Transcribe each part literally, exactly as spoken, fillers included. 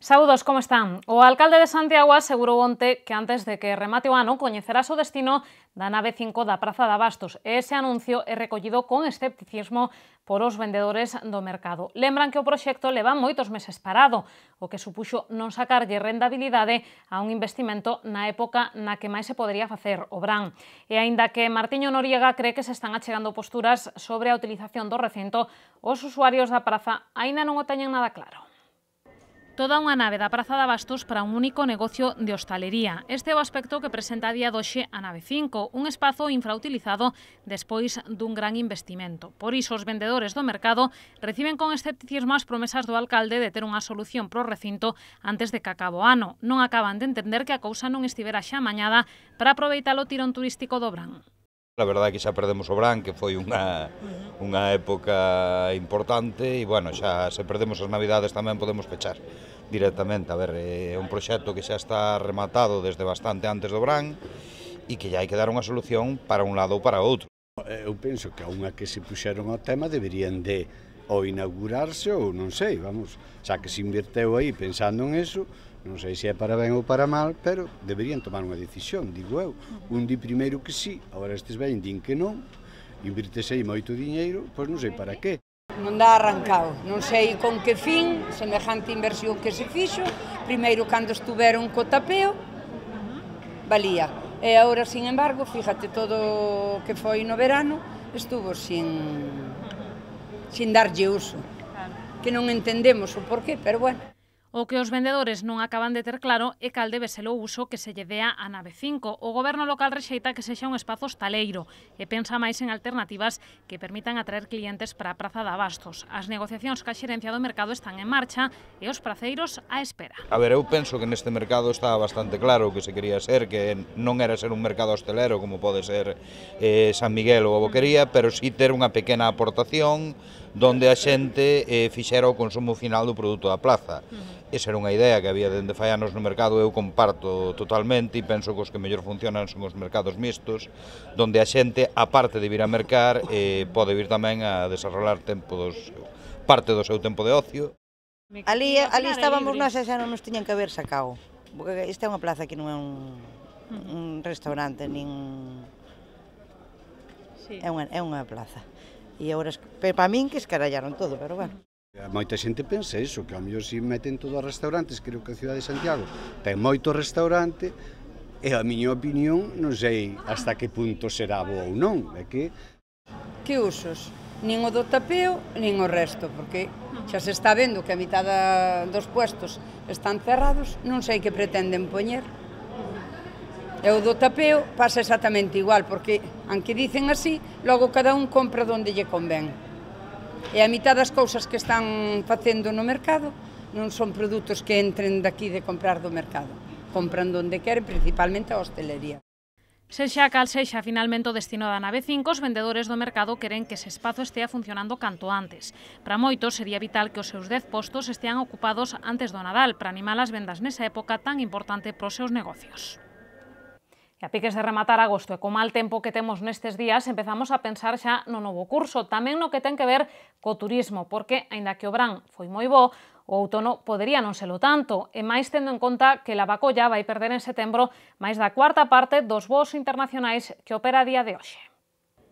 Saúdos, como están? O alcalde de Santiago asegurou onte que antes de que remate o ano coñecerás o destino da nave cinco da Praza de Abastos. Ese anuncio é recollido con escepticismo por os vendedores do mercado. Lembran que o proxecto leva moitos meses parado, o que supuxo non sacarlle rendabilidade a un investimento na época na que máis se podería facer o Brán. E aínda que Martiño Noriega cree que se están achegando posturas sobre a utilización do recinto, os usuarios da praza aínda non o teñen nada claro. Toda unha nave da Praza de Abastos para un único negocio de hostalería. Este é o aspecto que presenta a día doxe a nave cinco, un espazo infrautilizado despois dun gran investimento. Por iso, os vendedores do mercado reciben con escepticismo as promesas do alcalde de ter unha solución pro recinto antes de que acabe o ano. Non acaban de entender que a cousa non estivera xa amañada para aproveitar o tirón turístico do Brán. A verdade é que xa perdemos o Brán, que foi unha, unha época importante e, bueno, xa se perdemos as Navidades tamén podemos pechar directamente. A ver, é un proxecto que xa está rematado desde bastante antes do Brán e que xa hai que dar unha solución para un lado ou para outro. Eu penso que a unha que se puxeron ao tema deberían de ou inaugurarse ou non sei, vamos, xa que se inverteu aí pensando en eso, non sei se é para ben ou para mal, pero deberían tomar unha decisión, digo eu. Un di primeiro que sí, agora estes ven din que non, invirtese aí moito diñeiro, pois non sei para qué. Non dá arrancado, non sei con que fin, semejante inversión que se fixo, primeiro cando estuveron co tapeo, valía. E agora, sin embargo, fíjate, todo o que foi no verano estuvo sin, sin darlle uso, que non entendemos o porqué, pero bueno. O que os vendedores non acaban de ter claro é cal debe ser o uso que se lle dea a nave cinco. O goberno local rexeita que sexa un espazo hostaleiro e pensa máis en alternativas que permitan atraer clientes para a Praza de Abastos. As negociacións ca xerencia do mercado están en marcha e os praceiros á espera. A ver, eu penso que neste mercado está bastante claro o que se quería ser, que non era ser un mercado hostelero como pode ser eh, San Miguel ou a Boquería, pero sí ter unha pequena aportación donde a xente eh, fixera o consumo final do produto da plaza. Uh-huh. Esa era unha idea que había dende fai anos no mercado, eu comparto totalmente e penso que os que mellor funcionan son os mercados mixtos, donde a xente, aparte de vir a mercar, eh, pode vir tamén a desarrollar tempo dos, parte do seu tempo de ocio. Ali, ali estábamos nós e xa non nos tiñan que haber sacado, porque esta é unha plaza que non é un, un restaurante, nin... Sí. É, unha, é unha plaza. E agora, para min, que escarallaron todo, pero bueno. Moita xente pensa iso, que ao mellor se meten todos os restaurantes, creo que a cidade de Santiago ten moito restaurante, e a miña opinión non sei hasta que punto será bo ou non, é que... Que usos? Nin o do tapeo, nin o resto, porque xa se está vendo que a mitad dos puestos están cerrados, non sei que pretenden poñer. E o do tapeo pasa exactamente igual, porque, aunque dicen así, logo cada un compra donde lle convén. E a mitad das cousas que están facendo no mercado non son produtos que entren daqui de comprar do mercado. Compran donde queren, principalmente a hostelería. Sexa cal sexa finalmente o destino da nave cinco, os vendedores do mercado queren que ese espazo estea funcionando canto antes. Para moitos sería vital que os seus dez postos estean ocupados antes do Nadal para animar as vendas nesa época tan importante para os seus negocios. E a piques de rematar agosto e co mal tempo que temos nestes días, empezamos a pensar xa no novo curso, tamén no que ten que ver co turismo, porque, aínda que o Brán foi moi bo, o outono podería non selo tanto, e máis tendo en conta que Lavacolla vai perder en setembro máis da cuarta parte dos voos internacionais que opera a día de hoxe.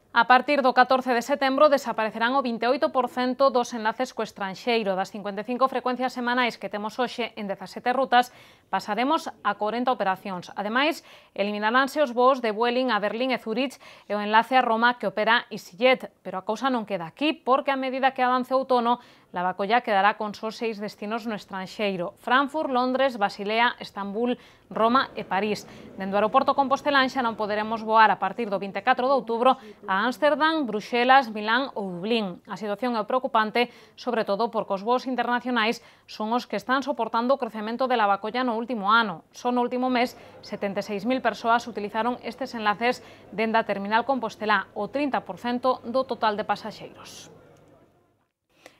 A partir do catorce de setembro desaparecerán o vinte e oito por cento dos enlaces co estranxeiro. Das cincuenta e cinco frecuencias semanais que temos hoxe en dezasete rutas, pasaremos a corenta operacións. Ademais, eliminaránse os voos de Vueling a Berlín e Zurich e o enlace a Roma que opera EasyJet. Pero a cousa non queda aquí, porque a medida que avance o outono, Lavacolla quedará con só seis destinos no estranxeiro: Frankfurt, Londres, Basilea, Estambul, Roma e París. Dende o aeroporto compostelán xa non poderemos voar a partir do vinte e catro de outubro a Ámsterdam, Bruxelas, Milán ou Dublín. A situación é preocupante, sobre todo porque os voos internacionais son os que están soportando o crecemento de Lavacolla no último ano. Só no último mes, setenta e seis mil persoas utilizaron estes enlaces dende a terminal Compostelá, o trinta por cento do total de pasaxeiros.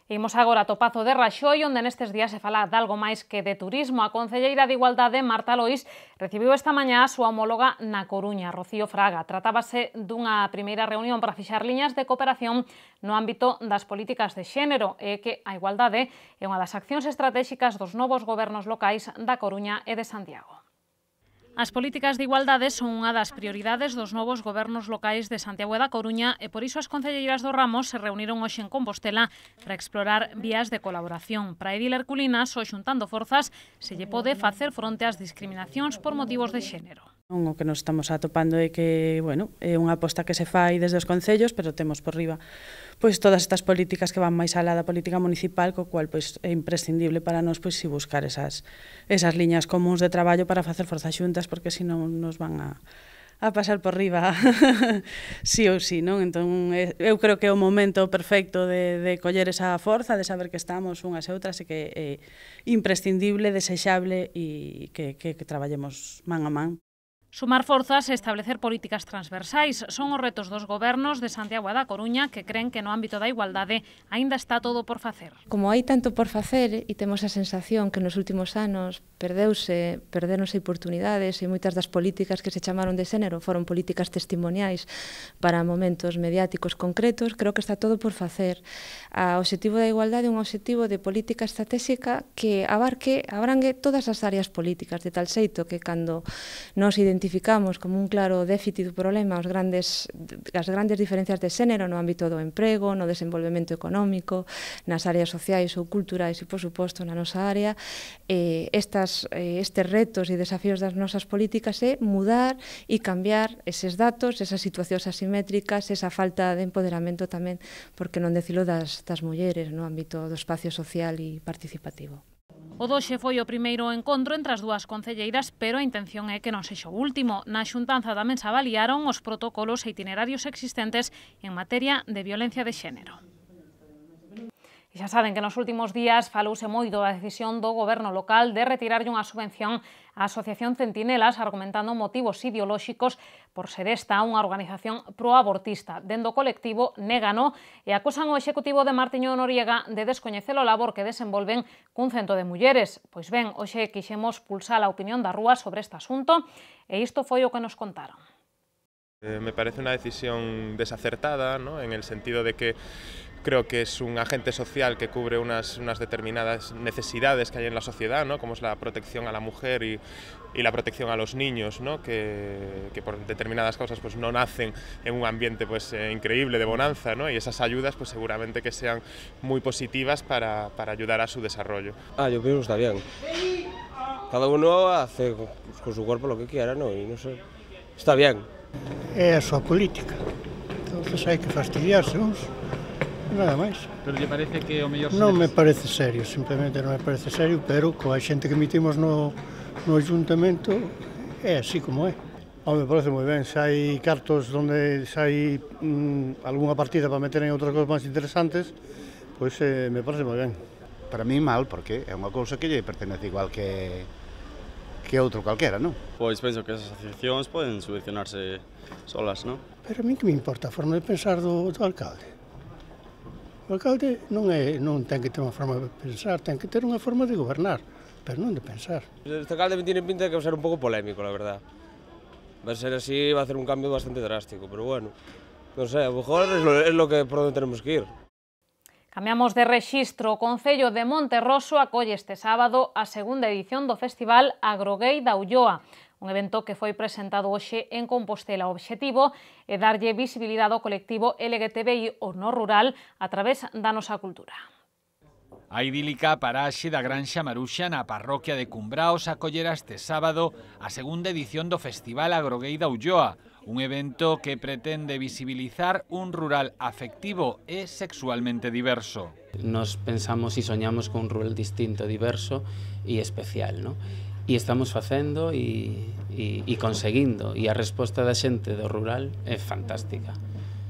Imos agora a Topazo de Raxoi, onde nestes días se fala de algo máis que de turismo. A concelleira de Igualdade, Marta Lois, recibiu esta mañá a súa homóloga na Coruña, Rocío Fraga. Tratábase dunha primeira reunión para fixar liñas de cooperación no ámbito das políticas de xénero e que a igualdade é unha das accións estratéxicas dos novos gobernos locais da Coruña e de Santiago. As políticas de igualdade son unha das prioridades dos novos gobernos locais de Santiago e da Coruña e por iso as concelleiras do ramo se reuniron hoxe en Compostela para explorar vías de colaboración. Para Edil Herculina, só xuntando forzas, se lle pode facer fronte ás discriminacións por motivos de xénero. O que nos estamos atopando é que, bueno, é unha aposta que se fai desde os concellos, pero temos por riba pois todas estas políticas que van máis alá da política municipal, co cual pois é imprescindible para nós pois si buscar esas esas liñas comuns de traballo para facer forzas xuntas, porque senón nos van a a pasar por riba sí ou sí, non? Entón, eu creo que é o momento perfecto de, de coller esa forza, de saber que estamos unhas e outras e que é imprescindible, desexable e que, que, que traballemos man a man. Sumar forzas e establecer políticas transversais son os retos dos gobernos de Santiago e da Coruña que creen que no ámbito da igualdade aínda está todo por facer. Como hai tanto por facer e temos a sensación que nos últimos anos perdeuse, perderonse oportunidades e moitas das políticas que se chamaron de xénero foron políticas testimoniais para momentos mediáticos concretos, creo que está todo por facer. O obxectivo da igualdade é un obxectivo de política estratégica que abarque, abrangue todas as áreas políticas, de tal xeito que cando nos identificamos identificamos como un claro déficit do problema os grandes, as grandes diferencias de xénero no ámbito do emprego, no desenvolvemento económico, nas áreas sociais ou culturais e, por suposto, na nosa área. Eh, estas, eh, estes retos e desafíos das nosas políticas é mudar e cambiar eses datos, esas situacións asimétricas, esa falta de empoderamento tamén, porque non decilo das, das mulleres no ámbito do espacio social e participativo. O doxe foi o primeiro encontro entre as dúas concelleiras, pero a intención é que non sexa o último. Na xuntanza tamén se avaliaron os protocolos e itinerarios existentes en materia de violencia de xénero. E xa saben que nos últimos días falouse moito da decisión do goberno local de retirarlle unha subvención á Asociación Centinelas, argumentando motivos ideolóxicos por ser esta unha organización proabortista. Dendo o colectivo, négano e acusan o Executivo de Martiño Noriega de descoñecer o labor que desenvolven cun cento de mulleres. Pois ben, hoxe quixemos pulsar a opinión da rúa sobre este asunto e isto foi o que nos contaron. Eh, me parece una decisión desacertada, ¿no? En el sentido de que creo que es un agente social que cubre unas, unas determinadas necesidades que hay en la sociedad, ¿no? Como es la protección a la mujer y, y la protección a los niños, ¿no? que, que por determinadas causas pues, no nacen en un ambiente pues, eh, increíble de bonanza, ¿no? Y esas ayudas pues, seguramente que sean muy positivas para, para ayudar a su desarrollo. Ah, yo pienso que está bien. Cada uno hace con su cuerpo lo que quiera, ¿no? Y no sé, está bien. É a súa política, entonces hai que fastidiarse uns, nada máis. Pero lle parece que o mellor... Non me parece serio, simplemente non me parece serio, pero coa xente que emitimos no, no ayuntamento é así como é. Home, me parece moi ben, se hai cartos onde se hai mm, algunha partida para meter en outras cousas máis interesantes, pois eh, me parece moi ben. Para mí mal, porque é unha cousa que lle pertenece igual que que outro calquera, non? Pois penso que as asociacións poden subvencionarse solas, non? Pero a mí que me importa a forma de pensar do, do alcalde. O alcalde non, é, non ten que ter unha forma de pensar, ten que ter unha forma de gobernar, pero non de pensar. Este alcalde me tiene pinta de que va a ser un pouco polémico, la verdad. Va a ser así, va a hacer un cambio bastante drástico, pero bueno, non sei, a lo mejor es lo, es lo que por onde tenemos que ir. Cambiamos de rexistro. O Concello de Monterroso acolle este sábado a segunda edición do Festival Agrogay da Ulloa, un evento que foi presentado hoxe en Compostela. O obxectivo é darlle visibilidade ao colectivo L G T B I o no rural a través da nosa cultura. A idílica paraxe da Granxa Maruxa na parroquia de Cumbraos acollera este sábado a segunda edición do Festival Agrogay da Ulloa, un evento que pretende visibilizar un rural afectivo e sexualmente diverso. Nos pensamos e soñamos con un rural distinto, diverso e especial, ¿no? E estamos facendo e, e, e conseguindo, e a resposta da xente do rural é fantástica.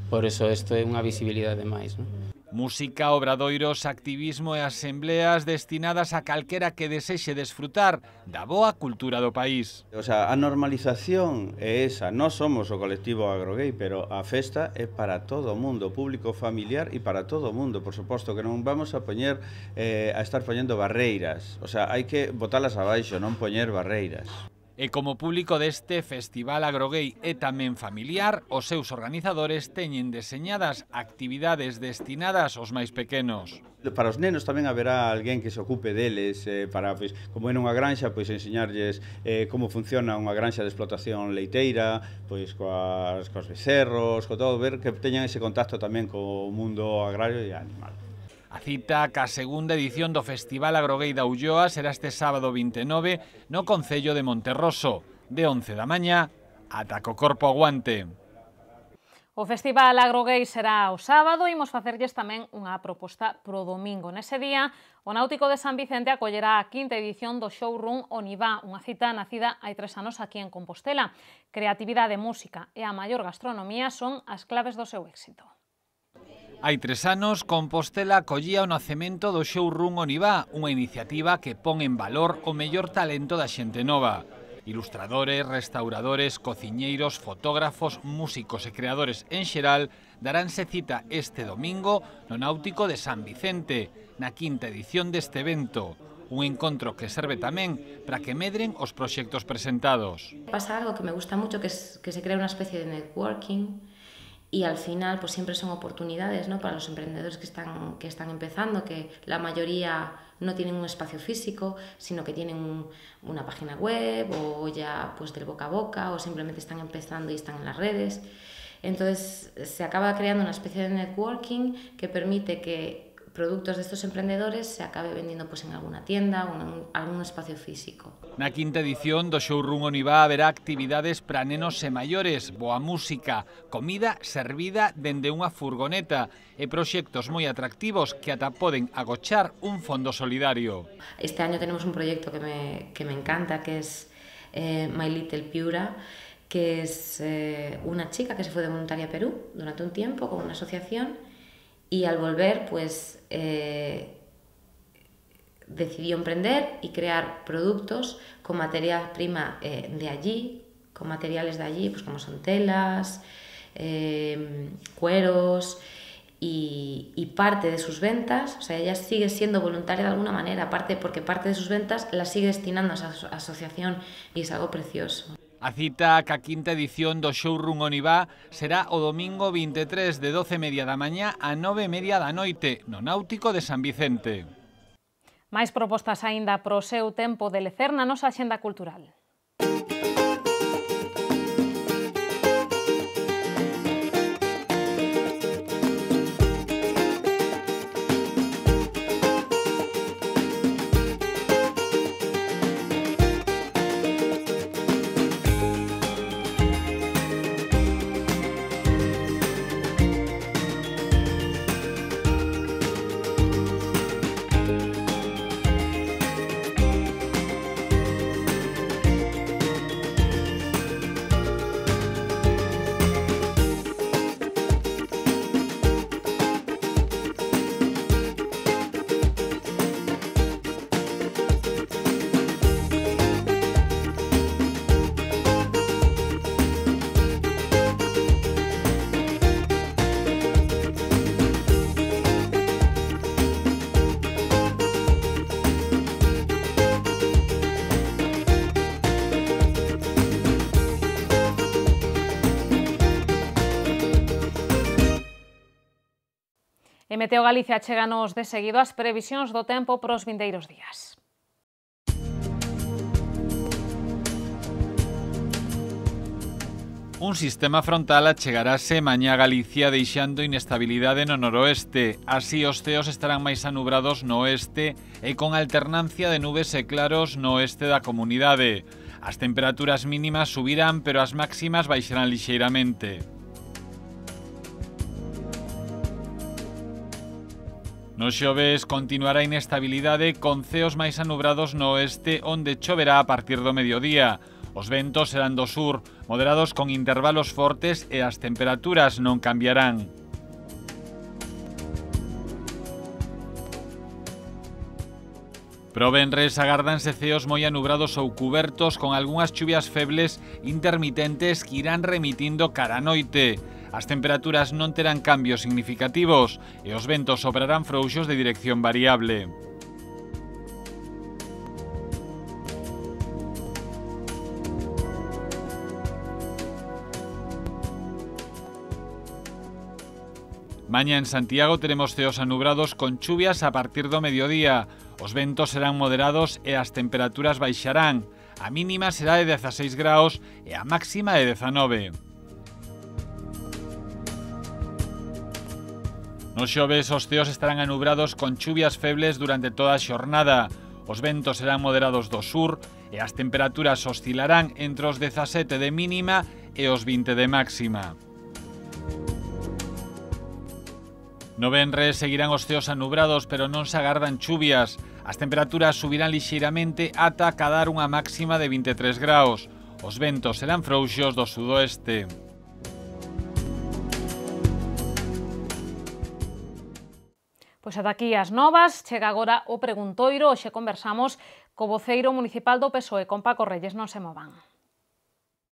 Por eso isto é unha visibilidade máis, ¿no? Música, obradoiros, activismo e asembleas destinadas a calquera que desexe desfrutar da boa cultura do país. O sea, a normalización é esa, non somos o colectivo agrogay, pero a festa é para todo o mundo, público familiar e para todo o mundo, por suposto que non vamos a poñer eh, a estar poñendo barreiras, o sea, hai que botalas abaixo, non poñer barreiras. E como público deste Festival Agrogay e tamén familiar, os seus organizadores teñen deseñadas actividades destinadas aos máis pequenos. Para os nenos tamén haberá alguén que se ocupe deles, eh, para, pois, como en unha granxa, pois enseñarlles eh, como funciona unha granxa de explotación leiteira, pois coas, coas becerros, co todo, ver que teñan ese contacto tamén co mundo agrario e animal. A cita ca segunda edición do Festival Agrogay da Ulloa será este sábado vinte e nove no concello de Monterroso, de once da mañá ata co corpo aguante. O Festival Agrogay será o sábado e imos facerlles tamén unha proposta pro domingo. Nese día, o Náutico de San Vicente acollerá a quinta edición do showroom Onivá, unha cita nacida hai tres anos aquí en Compostela. Creatividade, música e a maior gastronomía son as claves do seu éxito. Hai tres anos, Compostela acollía o nacemento do showroom Onivá, unha iniciativa que pon en valor o mellor talento da xente nova. Ilustradores, restauradores, cociñeiros, fotógrafos, músicos e creadores en xeral daránse cita este domingo no Náutico de San Vicente, na quinta edición deste evento. Un encontro que serve tamén para que medren os proxectos presentados. Pasa algo que me gusta mucho, que, es, que se crea una especie de networking. Y al final pues siempre son oportunidades, ¿no?, para los emprendedores que están, que están empezando, que la mayoría no tienen un espacio físico, sino que tienen un, una página web o ya pues del boca a boca, o simplemente están empezando y están en las redes. Entonces se acaba creando una especie de networking que permite que productos de estos emprendedores se acabe vendiendo pues en alguna tienda o en algún espacio físico. Na quinta edición do showroom Onivá haberá actividades para nenos e maiores, boa música, comida servida dende unha furgoneta e proxectos moi atractivos que ata poden agochar un fondo solidario. Este año tenemos un proyecto que me, que me encanta, que es eh, My Little Piura, que es eh, una chica que se fue de voluntaria a Perú durante un tiempo con una asociación. Y al volver, pues, eh, decidió emprender y crear productos con materia prima eh, de allí, con materiales de allí, pues como son telas, eh, cueros, y, y parte de sus ventas, o sea, ella sigue siendo voluntaria de alguna manera, aparte porque parte de sus ventas la sigue destinando a esa asociación y es algo precioso. A cita ca quinta edición do showroom Onivá será o domingo vinte e tres de doce e media da mañá a nove e media da noite no Náutico de San Vicente. Máis propostas aínda pro seu tempo de lecer na nosa axenda cultural. E Meteo Galicia cheganos de seguido as previsións do tempo pros vindeiros días. Un sistema frontal achegarase mañá a Galicia deixando inestabilidade no noroeste. Así os ceos estarán máis anubrados no oeste e con alternancia de nubes e claros no oeste da comunidade. As temperaturas mínimas subirán, pero as máximas baixarán lixeiramente. No xoves continuará a inestabilidade con ceos máis anubrados no oeste onde choverá a partir do mediodía. Os ventos serán do sur, moderados con intervalos fortes e as temperaturas non cambiarán. Pro venres agárdanse ceos moi anubrados ou cubertos con algunhas chuvias febles intermitentes que irán remitindo cara a noite. As temperaturas non terán cambios significativos e os ventos soprarán frouxos de dirección variable. Mañá en Santiago teremos ceos anubrados con chuvias a partir do mediodía. Os ventos serán moderados e as temperaturas baixarán. A mínima será de dezaseis graus e a máxima de dezanove. Nos xoves os ceos estarán anubrados con chuvias febles durante toda a xornada. Os ventos serán moderados do sur e as temperaturas oscilarán entre os dezasete de mínima e os vinte de máxima. No venres seguirán os ceos anubrados, pero non se agardan chuvias. As temperaturas subirán lixeiramente ata acadar unha máxima de vinte e tres graus. Os ventos serán frouxos do sudoeste. Pois ata aquí as novas, chega agora o preguntoiro, hoxe conversamos co voceiro municipal do P S O E, con Paco Reyes, non se movan.